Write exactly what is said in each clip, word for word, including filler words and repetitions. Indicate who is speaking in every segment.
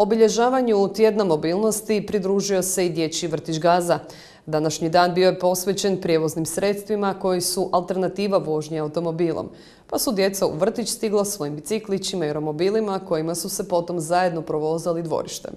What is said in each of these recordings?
Speaker 1: Obilježavanju tjedna mobilnosti pridružio se i dječji vrtić Gaza. Današnji dan bio je posvećen prijevoznim sredstvima koji su alternativa vožnje automobilom, pa su djeca u vrtić stigla svojim biciklićima i romobilima kojima su se potom zajedno provozali dvorištem.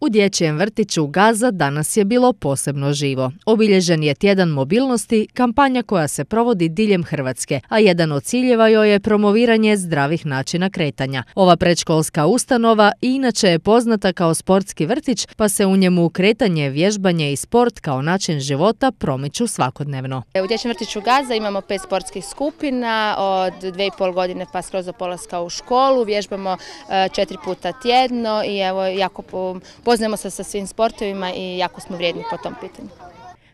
Speaker 2: U dječjem vrtiću Gaza danas je bilo posebno živo. Obilježen je tjedan mobilnosti, kampanja koja se provodi diljem Hrvatske, a jedan od ciljeva joj je promoviranje zdravih načina kretanja. Ova predškolska ustanova inače je poznata kao sportski vrtić, pa se u njemu kretanje, vježbanje i sport kao način života promiču svakodnevno.
Speaker 3: U dječjem vrtiću Gaza imamo pet sportskih skupina od dvije i pol godine pa skroz do polaska u školu. Vježbamo četiri puta tjedno i evo jako po poznajemo se sa svim sportovima i jako smo vrijedni po tom pitanju.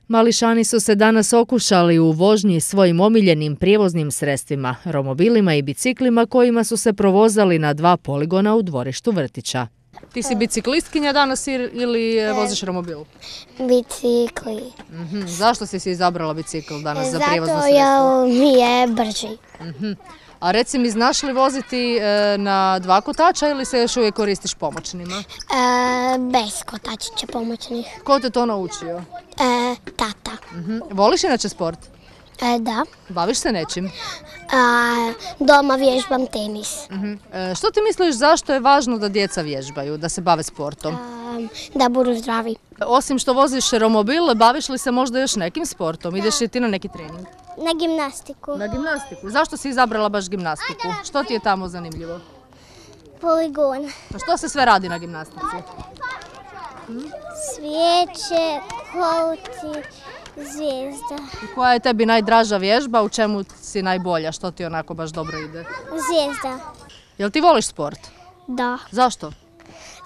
Speaker 2: Mališani su se danas okušali u vožnji svojim omiljenim prijevoznim sredstvima, romobilima i biciklima kojima su se provozali na dva poligona u dvorištu vrtića. Ti si biciklistkinja danas ili voziš romobil?
Speaker 4: Bicikli.
Speaker 2: Mm-hmm. Zašto si si izabrala bicikl danas za prijevozno
Speaker 4: sredstvo?
Speaker 2: Zato
Speaker 4: jer mi je brži.
Speaker 2: Mm-hmm. A reci mi, znaš li voziti e, na dva kotača ili se još uvijek koristiš pomoćnima?
Speaker 4: E, bez kotačića pomoćnih.
Speaker 2: Ko te to naučio?
Speaker 4: E, tata.
Speaker 2: Mm-hmm. Voliš inače sport?
Speaker 4: E, da.
Speaker 2: Baviš se nečim?
Speaker 4: A, doma vježbam tenis.
Speaker 2: Mm-hmm. E, što ti misliš zašto je važno da djeca vježbaju, da se bave sportom?
Speaker 4: E, da budu zdravi.
Speaker 2: Osim što voziš romobil, baviš li se možda još nekim sportom? Ideš li ti na neki trening?
Speaker 4: Na gimnastiku.
Speaker 2: Na gimnastiku. Zašto si izabrala baš gimnastiku? Što ti je tamo zanimljivo?
Speaker 4: Poligon.
Speaker 2: A što se sve radi na gimnastici?
Speaker 4: Hm? Svijeće, kolci, zvijezda.
Speaker 2: I koja je tebi najdraža vježba? U čemu si najbolja? Što ti onako baš dobro ide?
Speaker 4: Zvijezda.
Speaker 2: Jel ti voliš sport?
Speaker 4: Da.
Speaker 2: Zašto?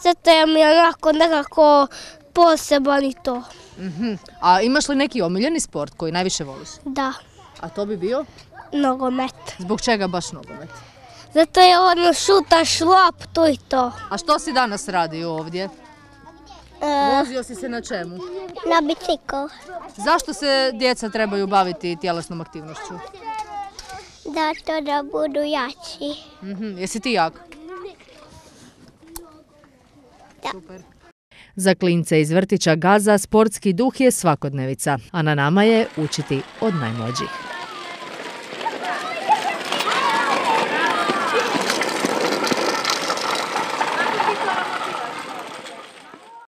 Speaker 4: Zato je mi onako nekako poseban i to.
Speaker 2: Mm-hmm. A imaš li neki omiljeni sport koji najviše voliš?
Speaker 4: Da. A
Speaker 2: to bi bio?
Speaker 4: Nogomet.
Speaker 2: Zbog čega baš nogomet?
Speaker 4: Zato je ono šutaš loptu i to.
Speaker 2: A što si danas radio ovdje?
Speaker 4: E,
Speaker 2: Vozio si se na čemu?
Speaker 4: Na bicikl.
Speaker 2: Zašto se djeca trebaju baviti tjelesnom aktivnošću?
Speaker 4: Zato da budu jači.
Speaker 2: Mm-hmm. Jesi ti jak?
Speaker 4: Da.
Speaker 2: Super. Za klince iz vrtića Gaza sportski duh je svakodnevica, a na nama je učiti od najmlađih.